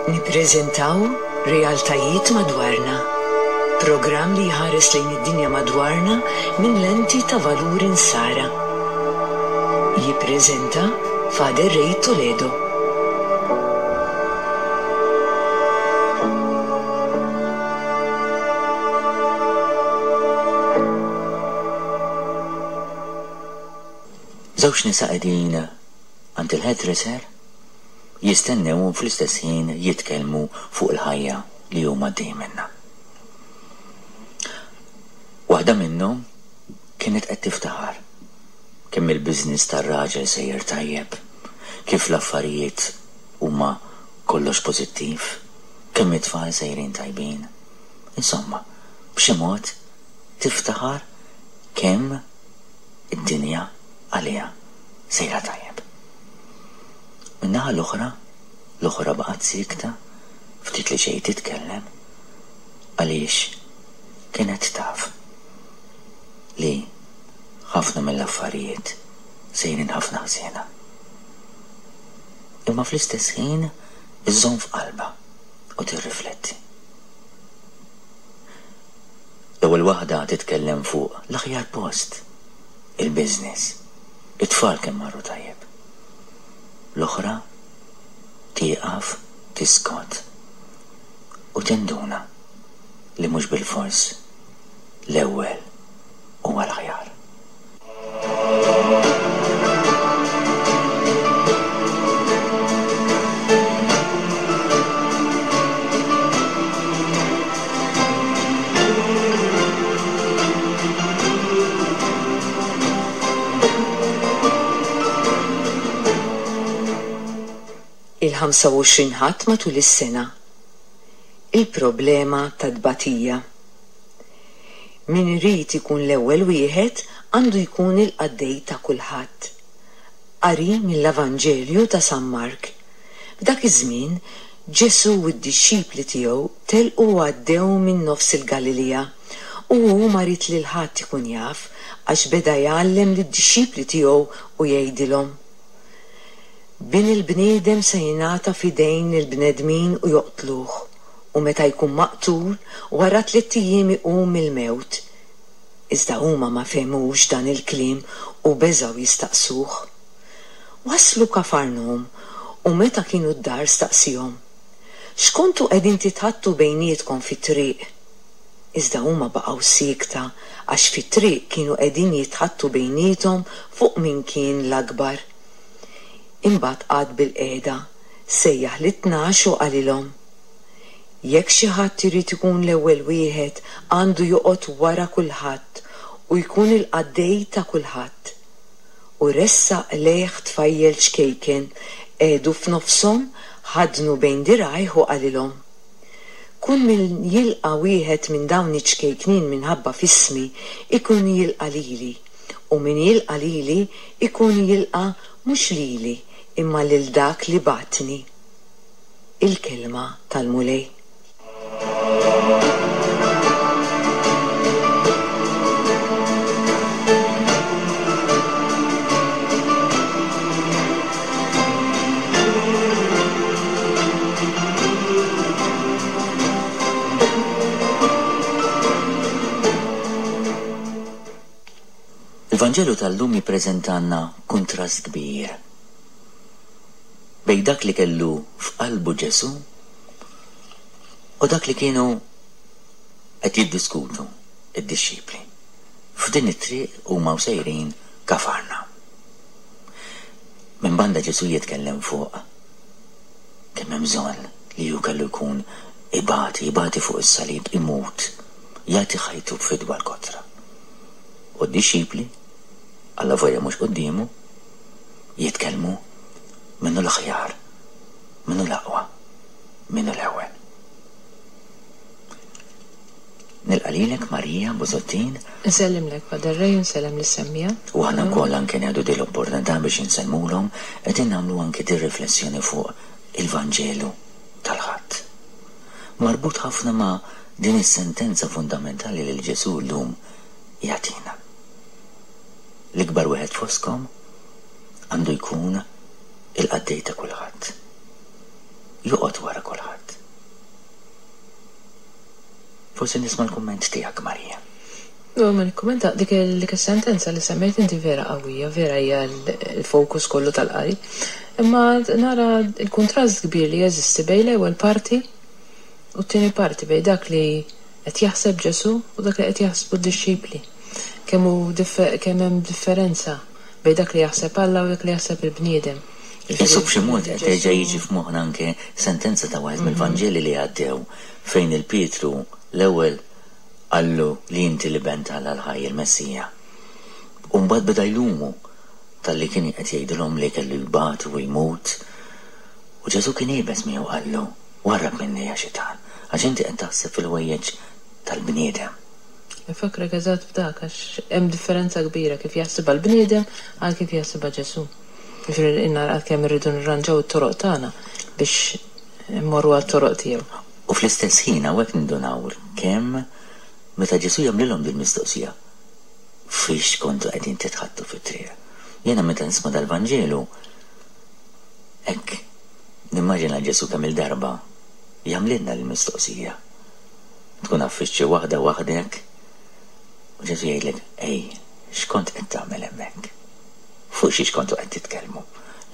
Nippreżentaw Realtajiet Madwarna, programm li jħares lejn id-dinja madwarna minn lenti ta' valuri Nsara. Jippreżenta Father Ray Toledo. Żewġ nisa qegħdin għand il-hairdresser jistennew u fl-istess ħin jitkellmu fuq il-ħajja li huma għaddejjin minnha. Waħda minnhom kienet qed tiftaħar kemm il-business tar-raġel sejjer tajjeb, kif l-affarijiet huma kollox pożittiv, kemm it-tfal sejrin tajbin. Insomma, b'xi mod tiftaħar kemm id-dinja għaliha sejra tajjeb. Min-naħa l-oħra, l-oħra baqgħet siekta, ftit li xejn titkellem, għaliex kienet taf li ħafna mill-affarijiet sejrin ħafna ħżiena. Imma fl-istess ħin iżżomm f'qalbha u tirrifletti. L-ewwel waħda titkellem fuq l-aħjar post, il-business, it-tfal kemm marru tajjeb. L-oħra tieqaf, tiskot u tinduna li mhux bilfors l-ewwel huwa l-aħjar. Il-25 Ħadd matul is-sena. Il-problema tat-tbatija. Min irid ikun l-ewwel wieħed għandu jkun il-qaddej ta' kulħadd. Qari mill-Avanġelju ta' San Mark. F'dak iż-żmien, Ġesù u d-dixxipli tiegħu telqu u għaddew minn nofs il-Galilija, u hu ma ried lil ħadd ikun jaf, għax beda jgħallem lid-dixxipli tiegħu u jgħidilhom, Bin il-bniedem se jingħata f'idejn il-bnedmin u joqtluh, u meta jkun maqtul, wara tlitt ijiem iqum mill-mewt. Iżda huma ma fehmux dan il-kliem u beżgħu jistaqsuh. Waslu Kafarnahum u meta kienu d-dar staqsiehom, X'kontu qegħdin titħaddtu bejnietkom fit-triq? Iżda huma baqgħu siekta għax fit-triq kienu qegħdin jitħaddtu bejniethom fuq min kien l-akbar. Imbagħad qagħad bilqiegħda, sejjaħ lit-tnax u qalilhom, Jekk xi ħadd irid ikun l-ewwel wieħed għandu joqgħod wara kulħadd u jkun il-qaddej ta' kulħadd. U ressaq lejh tfajjel ċkejken, qiegħdu f'nofshom, ħaddnu bejn dirgħajh u qalilhom, Kull min jilqa' wieħed minn dawn iċ-ċkejknin minħabba f'ismi, ikun jilqa' lili, u min jilqa' lili, ikun jilqa' mhux lili, imma lil dak li bagħatni. Il-Kelma tal-Mulej. Il-Vanġelu tal-lum jippreżentalna kuntrast kbir bejn dak li kellu f'qalbu Ġesù u dak li kienu qed jiddiskutu d-dixxipli f'din it-triq huma u sejrin Kafarnahum. Minn banda Ġesù jitkellem fuq kemm hemm bżonn li hu kellu jkun ibati, ibati fuq is-salib, imut, jagħti ħajtu b'fidwa l-kotra. U d-dixxipli, allavolja mhux quddiemu, jitkellmu min hu l-aħjar, min hu l-aqwa, min hu l-ewwel. Nilqa' lilek Maria Busuttil. Insellimlek Father Ray u nsellem lis-semmiegħa. U aħna wkoll anke nieħdu din l-opportunità biex insellmulhom, qegħdin nagħmlu anke din riflessjoni fuq il-Vanġelu tal-Ħadd. Marbut ħafna ma' din is-sentenza fundamentali li Ġesù llum jagħtina. L-ikbar wieħed fostkom għandu jkun il-qaddej ta' kulħadd. Joqgħod wara kulħadd. Forsi nisma' l-kumment tiegħek, Marija. No, ma nikkumenta dik dik is-sentenza li semmejt inti vera qawwija, vera hija l-fokus kollu tal-qari. Imma nara l-kuntrast kbir li jeżisti bejn l-ewwel parti u t-tieni parti, bejn dak li qed jaħseb Ġesù u dak li qed jaħsbu d-dixxipli. Kemm hu kemm hemm differenza bejn dak li jaħseb Alla u dak li jaħseb il-bniedem. Qisu b'xi mod qed terġa' jiġi f'moħħna anke sentenza ta' wieħed mill-Vanġeli li għaddew fejn il-Pietru l-ewwel qallu li inti l-Iben t'Alla l-ħaj, il-Messija. U mbagħad beda jlumu talli kien qed jgħidilhom li kellu jbati u jmut. U Ġesù kien iebes miegħu qallu, Warrab minni ja xitan, għax inti qed taħseb fil-ħwejjeġ tal-bniedem. Infakkrek eżatt f'dak għax hemm differenza kbira kif jaħsibha l-bniedem għal kif jaħsibha Ġesù. Jiġifieri inna għalkemm irridu nirranġaw it-toroq tagħna biex immorru għat-toroq tiegħu. U fl-istess ħin hawnhekk nindunaw kemm meta Ġesù jagħmlilhom dil-mistoqsija, Fiex kontu qegħdin titħaddtu fit-triq? Jiena meta nisma' dal-Vanġelu hekk nimmaġina Ġesù kemm-il darba jagħmlilna l-mistoqsija. Tkun għaffist xi waħda waħdek u Ġesù jgħidlek, Ej, x'kont qed tagħmel hemmhekk? Fuq xiex kontu qed titkellmu?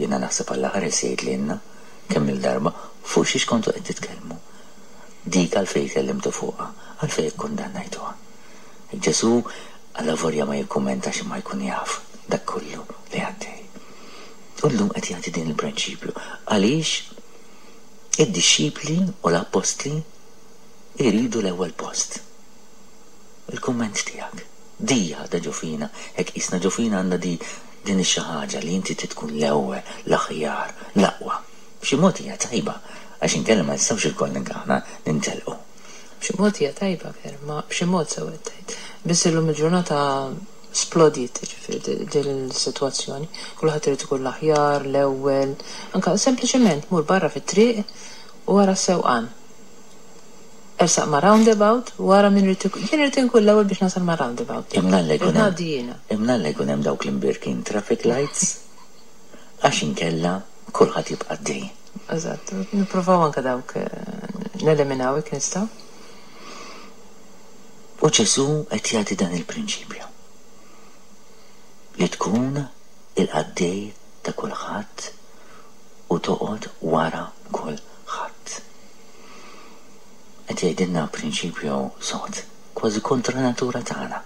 Jiena naħseb Alla ħares jgħid lilna kemm-il darba, fuq xiex kontu qed titkellmu? Dik għalfejn tkellimtu fuqha? Għalfejn ikkundannajtuha? Ġesù allavolja ma jikkummentax imma jkun jaf dak kollu li għaddej. U llum qed jagħti din il-prinċipju għaliex id-dixxipli u l-appostli jridu l-ewwel post. Il-kumment tiegħek. Di għadha ġo fina, hekk qisna ġo fina għandna di din ix-xi ħaġa li inti trid tkun l-ewwel, l-aħjar, l-aqwa. B'xi mod hija tajba, għax inkella ma nistgħux ilkoll aħna nintelqu. B'xi mod hija tajba vera, ma b'xi mod sew qed tgħid. Biss illum il-ġurnata splodiet, jiġifieri din is-sitwazzjoni. Kulħadd irid ikun l-aħjar, l-ewwel, anke sempliċement mur barra fit-triq u ara s-sewqan. Ersaq ma' roundabout u ara min irid ikun, jien irid inkun l-ewwel biex nasal ma' roundabout. Imnalla jkun Irrid hemm, ngħaddi jiena. imnalla jkun hemm dawk l-imbierkin traffic lights għax inkella kulħadd jibqa' għaddej. Eżatt, nippruvaw anke dawk neliminaw jekk nistgħu. U Ġesù qed jagħti dan il-prinċipju, li tkun il-qaddej ta' kulħadd u toqgħod wara kulħadd. Qed jgħidilna prinċipju sod, kważi kontra natura tagħna.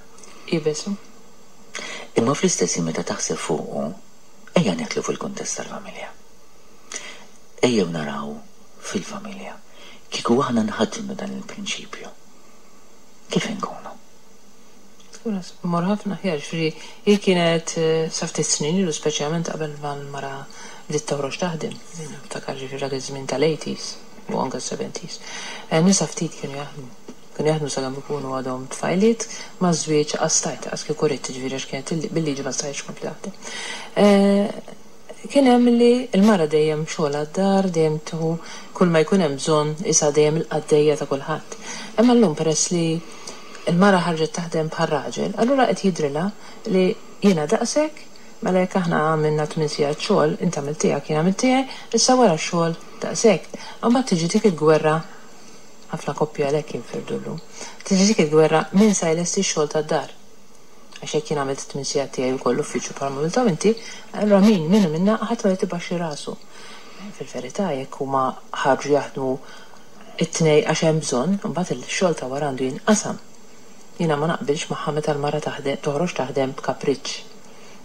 Iebes hu. Imma fl-istess ħin meta taħseb fuqu, ejja neħlu fil-kuntest tal-familja. Ejjew naraw fil-familja, kieku aħna nħaddnu dan il-prinċipju, kif inkunu? Tkun mor ħafna aħjar, ġifieri hi kienet sa ftit snin ilu speċjalment qabel ma l-mara bdiet toħroġ taħdem, niftakar ġifieri dak iż-żmien tal-80s u anke s-70s. Nisa ftit kienu jaħdmu. Kienu jaħdmu sakemm ikunu għadhom tfajliet, maż-żwieġ qas stajt, qas kieku ridt, ġifieri għax kienet bil-liġi ma stajtx tkompli taħdem. Kien hemm li l-mara dejjem xogħolha d-dar, dejjem tieħu kull ma jkun hemm bżonn, qisha dejjem il-qaddejja ta' kulħadd. Imma llum peress li l-mara ħarġet taħdem bħar-raġel, allura qed jidhrilha li jiena daqshekk, mela jekk aħna għamilna tmien sigħat xogħol, int għamilt tiegħek, jien għamilt tiegħi, issa wara x-xogħol daqshekk. Imbagħad tiġi dik il-gwerra, ħafna koppji għalhekk jinfirdu llum, tiġi dik il-gwerra min sa jlesti x-xogħol tad-dar. Għax jekk jien għamilt it-tmien sigħat tiegħi wkoll l-uffiċċju bħalma għamilthom inti, allura min, min minna ħadd ma jrid ibaxxi rasu. Fil-verità jekk huma ħarġu jaħdmu it-tnejn għax hemm bżonn, imbagħad il-xogħol ta' wara għandu jinqasam. Jiena ma naqbilx magħha meta l-mara taħdem, toħroġ taħdem b'kapriċċ.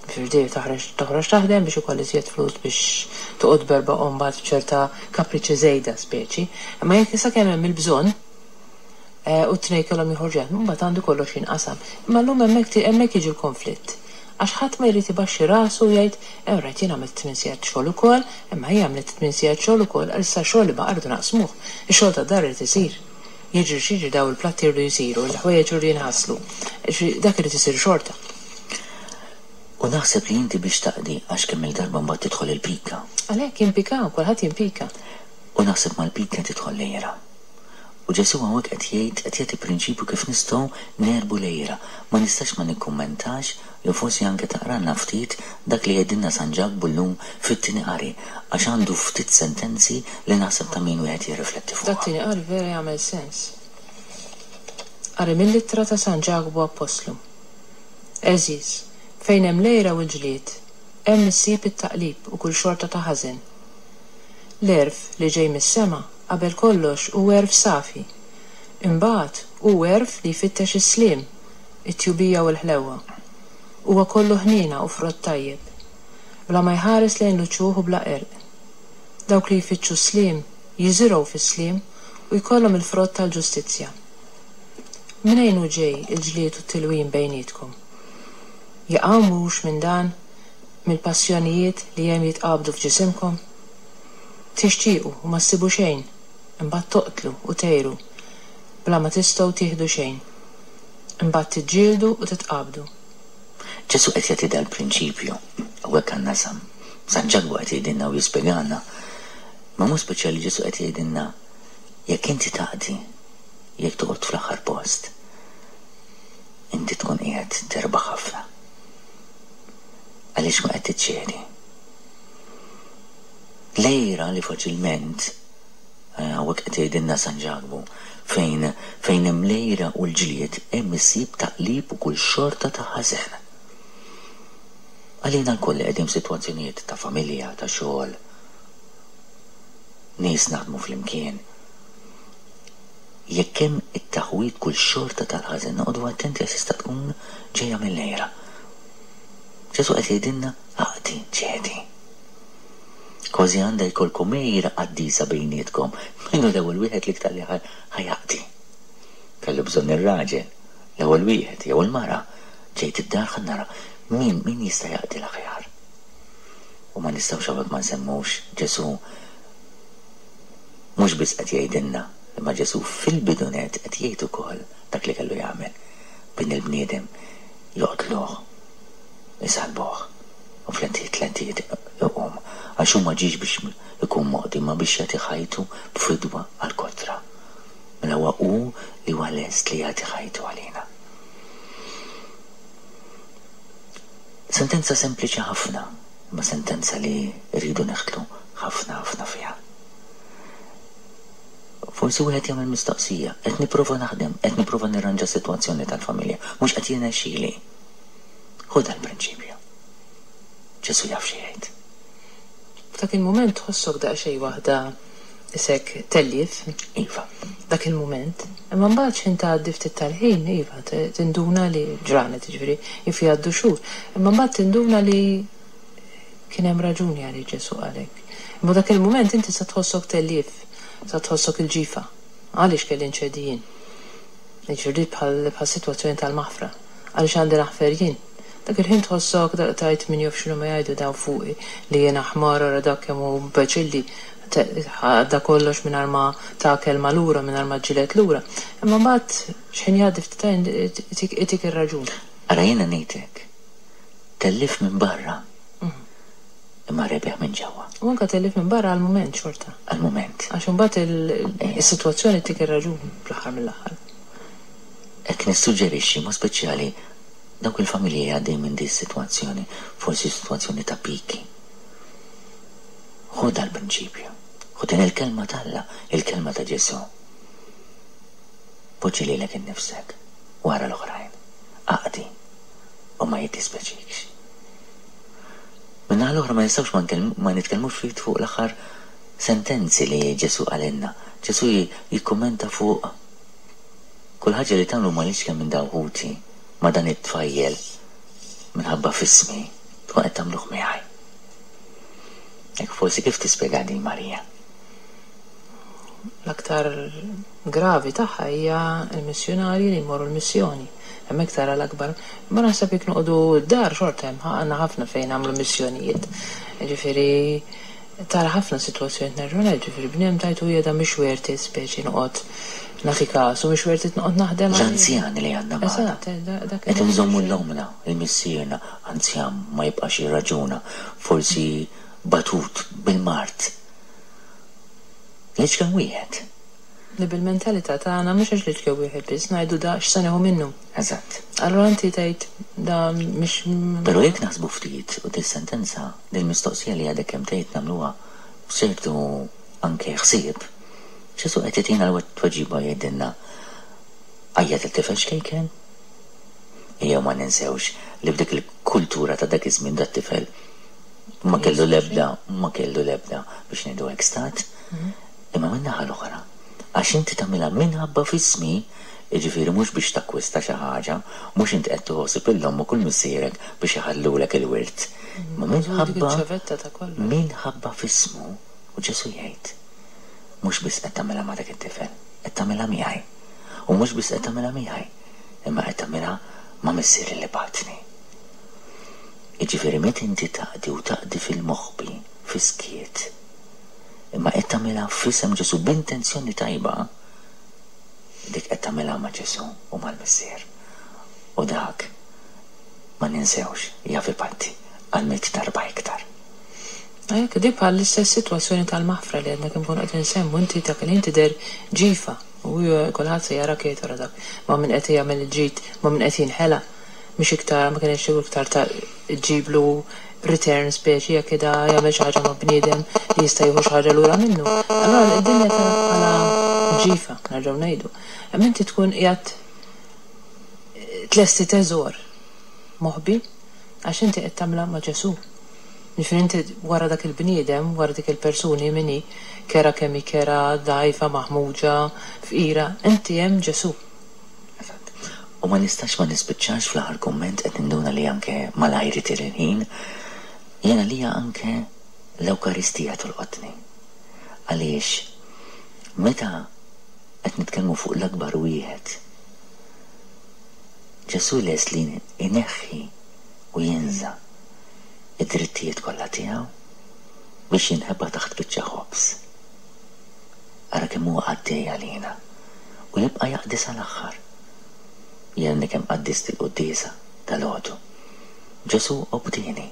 Jiġifieri dejjem taħreġ toħroġ taħdem biex ikollha iżjed flus biex toqgħod b'erba' u mbagħad b'ċerta kapriċċi żejda speċi. Imma jekk sakemm hemm il-bżonn, u t-tnejn kellhom joħorġu jaħdmu, imbagħad għandu kollox jinqasam. Imma llum hemmhekk hemmhekk jiġi l-konflitt. Għax ħadd ma jrid ibaxxi rasu u jgħid, Ew rajt jien għamilt tmien sigħat xogħol ukoll, imma hi għamlet tmien sigħat xogħol ukoll, għal issa x-xogħol li baqa' rridu naqsmuh. Ix-xogħol tad-dar irid isir. Jiġri x'jiġri dawn il-platti jridu jsiru, il-ħwejjeġ iridu jinħaslu. Jiġifieri dak irid isir xorta. U naħseb li inti biex taqdi għax kemm-il darba mbagħad tidħol il-pika. Għalhekk jimpikaw, kulħadd jimpika. U naħseb mal-pika tidħol l-għira. U Ġesù hawnhekk qed jgħid, qed jagħti prinċipju kif nistgħu negħlbu l-għira. Ma nistax ma nikkummentax, jew forsi anke taqralna ftit dak li jgħidilna San Ġakbu llum fit-tieni qari, għax għandu ftit sentenzi li naħseb ta' min wieħed jirrifletti fuqhom. Dat-tieni qari vera jagħmel sens. Qari mill-ittra ta' San Ġakbu Appostlu. Għeżież, fejn hemm l-għira u l-ġlied, hemm issib it-taqlib u kull xorta ta' ħażen. L-għerf li ġej mis-sema Qabel kollox hu għerf safi. Imbagħad hu għerf li jfittex is-sliem, it-tjubija u l-ħlewwa. Huwa kollu ħniena u frott tajjeb. Bla ma jħares lejn l-uċuħ u bla qerq. Dawk li jfittxu s-sliem jiżirgħu fis-sliem u jkollhom il-frott tal-ġustizzja. Mnejn hu ġej il-ġlied u t-tilwim bejnietkom? Jaqaw mhux minn dan, mill-passjonijiet li hemm jitqabdu f'ġisimkom? Tixtiequ u ma ssibu xejn, imbagħad toqtlu u tgħiru, bla ma tistgħu tieħdu xejn. Imbagħad tiġġieldu u titqabdu. Ġesù qed jagħti dal-prinċipju. Hawnhekk għandna San San Ġakbu qed jgħidilna u jispjegalna. Imma mod speċjali Ġesù qed jgħidilna jekk inti taqdi, jekk toqgħod fl-aħħar post, inti tkun qiegħed terbaħ ħafna. Għaliex ma qed tiċċedi. L-għira li faċilment, hawnhekk qed jgħidilna San Ġakbu, fejn fejn hemm l-għira u l-ġlied hemm issib taqlib u kull xorta ta' ħażen. Għalina lkoll li qegħdin f'sitwazzjonijiet ta' familja, ta' xogħol, nies naħdmu flimkien, jekk hemm it-taħwid kull xorta tal-ħażen noqogħdu attenti għax tista' tkun ġejja mill-għira. Ġesù qed jgħidilna aqdi, ċedi. Kważi għandha jkollkom għira qaddisa bejnietkom. Min hu l-ewwel wieħed l-iktar li ħa jaqdi? Kellu bżonn ir-raġel, l-ewwel wieħed, jew il-mara. Ġejt id-dar ħa nara min min jista' jaqdi l-aħjar. U ma nistgħux hawnhekk ma nsemmux Ġesù mhux biss qed jgħidilna, imma Ġesù fil-bidu nett qed jgħid ukoll dak li kellu jagħmel. Bin il-bniedem joqtluh, isallbuh. U fl-tlett iqum, għax hu ma ġiex biex ikun moqdi imma biex jagħti ħajtu b'fidwa għall-kotra. Mela huwa hu li huwa lest li jagħti ħajtu għalina. Sentenza sempliċi ħafna, imma sentenza li rridu neħtlu ħafna ħafna fiha. Forsi wieħed jagħmel mistoqsija, qed nipprova naħdem, qed nipprova nirranġa s-sitwazzjoni tal-familja, mhux qed jirnexxili. Ħu dal-prinċipju. Ġesù jaf xi jgħid. F'dak il-mument tħossok daqsxejn waħda isek tellief. Iva. Dak il-mument. Imma mbagħad x'ħin tgħaddi ftit tal-ħin, iva, tinduna li ġranet, jiġifieri jaf jgħaddu xhur. Imma mbagħad tinduna li kien hemm raġuni għaliex Ġesù qal hekk. Imma dak il-mument inti sa tħossok tellief, sa tħossok il-ġifa. Għaliex kelli nċedi jien? Jiġifieri bħal bħas-sitwazzjoni tal-maħfra. Għaliex għandi naħfer jien? Dak il-ħin tħossok tgħid min jaf x'inhuma jgħidu dawn fuqi li jiena ħmar ara dak kemm hu imbeċilli għadda kollox mingħajr ma ta kelma lura mingħajr ma ġġieled lura. Imma mbagħad x'ħin jgħaddi ftit ħin itik ir-raġun. Ara jiena ngħid hekk, tellief minn barra imma rebiħ minn ġewwa. U anke tellief minn barra għall-mument xorta. Għall-mument. Għax imbagħad is-sitwazzjoni ttik ir-raġun fl-aħħar mill-aħħar. Hekk nissuġġerixxi, mod speċjali dawk il-familji li għaddejjin minn din is-sitwazzjoni, forsi sitwazzjoni ta' piki. Ħu dal-prinċipju. Ħu din il-kelma t'Alla, il-kelma ta' Ġesù. Poġġi lilek innifsek wara l-oħrajn. Aqdi u ma jiddispjaċikx. Min-naħa l-oħra ma nistgħux ma ma nitkellmux ftit fuq l-aħħar sentenzi li Ġesù qalilna. Ġesù jikkummenta fuq Kull ħaġa li tagħmlu ma' l-iċken minn dawn ħuti, ma' dan it-tfajjel, minħabba f'ismi, tkun qed tagħmluh miegħi. Hekk forsi kif tispjega din Marija? L-aktar gravi tagħha hija l-missjunarji li jmorru l-missjoni. Hemmhekk tara l-akbar. Imma naħseb jekk noqogħdu d-dar xorta hemm għandna ħafna fejn nagħmlu missjonijiet. Jiġifieri Tara ħafna sitwazzjonijiet nerġgħu ngħid, ġifieri bniedem tgħid u da mhix worth it speċi noqgħod nagħti kasu, mhix worth it noqgħod naħdem għalih. L-anzjani li għandna magħna. Eżatt, dak Qed inżommu 'l ommna, 'l missierna, anzjan ma jibqax jirraġuna, forsi batut bil-mard. L-iċken wieħed. Li bil-mentalità tagħna mhux għax li wieħed biss ngħidu da x'se nieħu minnu. Eżatt. Allura inti tgħid da mhix. Però jekk naħsbu ftit u dis-sentenza, dil-mistoqsija li għadek kemm tgħid nagħmluha b'ċertu anke ħsieb, Ġesù qed jagħtina l-tweġiba jgħidilna għajjat it-tifel xkejken? Ejjew ma ninsewx li f'dik il-kultura ta' dak iż-żmien dat-tifel ma kellu l-ebda ma kellu l-ebda biex ngħidu hekk stat. Imma min-naħa l-oħra, għax inti tagħmilha minħabba f'ismi, jiġifieri mhux biex takkwista xi ħaġa, mhux int qed tħossib lil ommok u 'l missierek biex iħallulek il-wirt, imma minħabba minħabba f'ismu, u Ġesù jgħid, mhux biss qed tagħmilha ma' dak it-tifel, qed tagħmilha miegħi. U mhux biss qed tagħmilha miegħi, imma qed tagħmilha ma' Missieri li bagħatni. Jiġifieri meta inti taqdi u taqdi fil-moħbi, fis-skiet, imma qed tagħmilha f'isem Ġesù b'intenzjoni tajba, dik qed tagħmilha ma' Ġesù u mal-Missier. U dak, ma ninsewx, jaf ipatti għal mitt darba iktar. Hekk, di bħal l-istess sitwazzjoni tal-maħfra li għadna kemm konna qed insemmu, inti dak il-ħin tidher ġifa u kulħadd se jarak jgħid wara dak ma' min qed jagħmel il-ġid, ma' min qed jinħela. Mhix iktar, ma kienx iktar ta' ġġiblu return speċi jekk ida jagħmel xi ħaġa ma' bniedem li jista' jieħu xi ħaġa lura minnu. Allura d-dinja tarak bħala ġifa, nerġgħu ngħidu. Imma inti tkun qiegħed tlesti teżor moħbi għax inti qed tagħmilha ma' Ġesù. Jiġifieri inti wara dak il-bniedem, wara dik il-persuni min hi, kerha kemm hi kerha, dgħajfa, maħmuġa, fqira, inti hemm Ġesù. Eżatt. U ma nistax ma nispiċċax fl-aħħar kumment qed ninduna li anke malajr itir il-ħin. Jien għalija anke l-Ewkaristija tolqotni. Għaliex meta qed nitkellmu fuq l-akbar wieħed, Ġesù lest li jneħħi u jinża' id-drittijiet kollha tiegħu biex jinħeba taħt biċċa ħobż. Ara kemm huwa qaddej għalina u jibqa' jaqdi sal-aħħar. Jien għadni kemm qaddist il-quddiesa dalgħodu. Ġesù obdieni,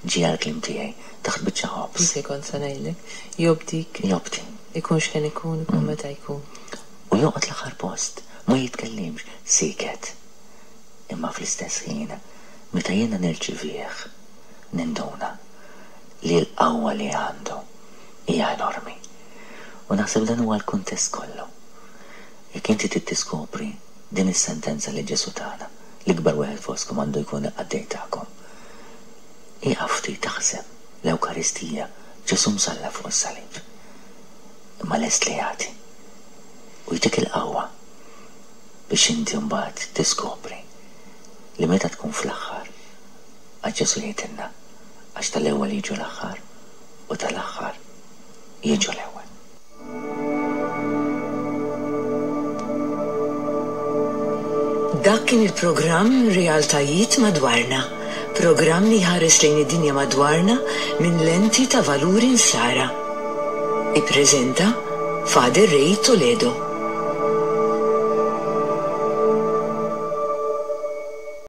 ġie għall-kliem tiegħi taħt biċċa ħobż. Dik li kont se ngħidlek. Jobdik. Jobdi. Ikun x'ħin ikun, ikun meta jkun. U joqgħod l-aħħar post, ma jitkellimx, sieket. Imma fl-istess ħin, meta jiena nirċivih, ninduna li l-qawwa li għandu hija enormi. U naħseb dan huwa l-kuntest kollu. Jekk inti trid tiskopri din is-sentenza li Ġesù tana, l-ikbar wieħed fostkom għandu jkun il-qaddej tagħkom. Ieqaf ftit aħseb, l-Ewkaristija, Ġesù msallab fuq is-salib. Imma lest li jagħti. U jtik il-qawwa biex inti mbagħad tiskopri li meta tkun fl-aħħar, għax Ġesù jgħidilna, għax tal-ewwel jiġu l-aħħar u tal-aħħar jiġu l-ewwel. Dak kien il-programm Realtajiet Madwarna, programm li jħares lejn id-dinja madwarna minn lenti ta' valuri Nsara. Ippreżenta Father Ray Toledo.